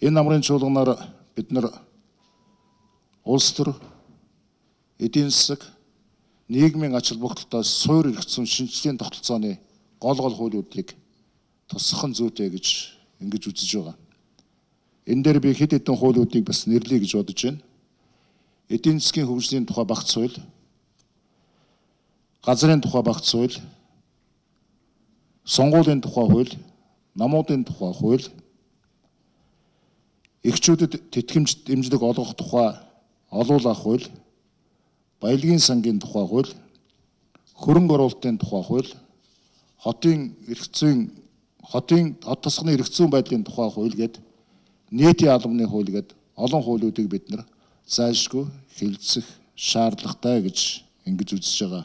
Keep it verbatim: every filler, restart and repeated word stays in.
Энэ намрын чуулганаар бид нар улс төр, эдийн засаг, нийгмийн ач холбогдолтой суурь эрх зүйн шинжилгээний тогтолцооны гол гол хуулиудыг тусгах нь зүйтэй гэж ингэж үзэж байгаа. Энэ дээр би хэд хэдэн хуулиудыг бас нэрлэе гэж бодож байна. Эдийн засгийн хөгжлийн тухай багц хууль, газрын тухай багц хууль, сонгуулийн тухай хууль, намуудын тухай хууль, эхчүүдэд тэтгэмж дэмжлэг олгох тухай олуулах хууль, баялагын сангийн тухай хууль, хөрөнгө оруулалтын тухай хууль, хотын эрх зүйн хотын хот тосгоны эрх зүйн байдлын тухай хууль гээд нийтийн албаны хууль гээд олон хуулиудыг бид нар зайлшгүй хэлэлцэх шаардлагатай гэж ингэж үзэж байгаа.